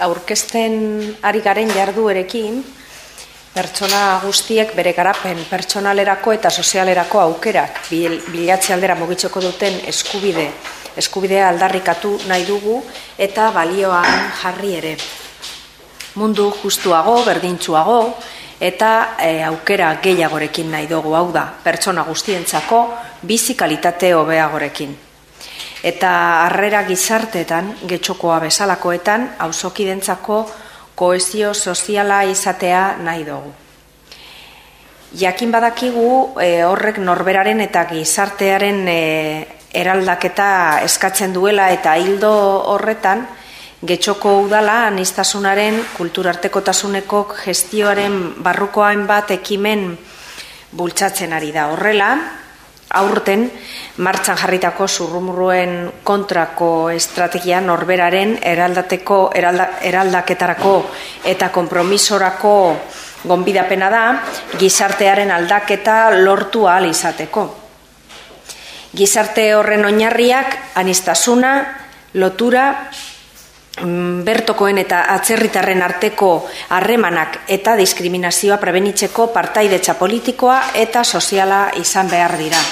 aurkezten ari garen jarduerekin, pertsona guztiek bere garapen pertsonalerako eta sozialerako aukerak bilatze aldera mugitzeko duten eskubidea aldarrikatu nahi dugu eta balioan jarri ere. Mundu justuago, berdintsuago eta aukera gehiagorekin nahi dugu, hau da, pertsona guztientzako bizi kalitate hobeagorekin. Eta harrera gizarteetan, getxokoa bezalakoetan, auzokidentzako kohesio soziala izatea nahi dugu. Jakin badakigu horrek norberaren eta gizartearen eraldaketa eskatzen duela eta hildo horretan, Getxoko udala aniztasunaren kulturartekotasuneko gestioaren barruko hainbat ekimen bultzatzen ari da. Horrela, aurten martxan jarritako zurrumurruen kontrako estrategia norberaren eraldaketarako eta konpromisorako gonbidapena da gizartearen aldaketa lortu ahal izateko. Gizarte horren oinarriak aniztasuna, lotura, bertokoen eta atzerritarren arteko harremanak eta diskriminazioa prebenitzeko partaidetza politikoa eta soziala izan behar dira.